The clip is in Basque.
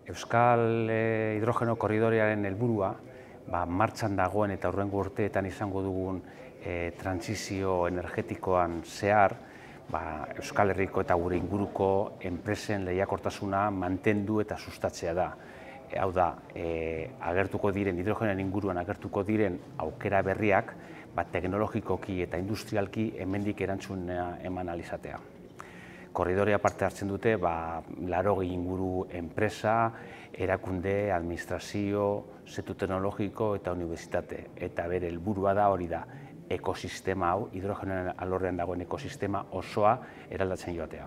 Euskal Hidrogeno Korridorearen helburua martxan dagoen eta hurrengo urteetan izango dugun trantsizio energetikoan zehar Euskal Herriko eta gure inguruko enpresen lehiakortasuna mantendu eta sustatzea da. Hau da, agertuko diren, hidrogenoaren inguruan agertuko diren aukera berriak teknologikoki eta industrialki hemendik erantzuna eman ahal izatea. Korridorea parte hartzen dute 80 inguru enpresa, erakunde, administrazio, sektor teknologiko eta unibertsitate. Eta bere helburua da hori da, ekosistema hau, hidrogenoaren alorrean dagoen ekosistema osoa eraldatzen joatea.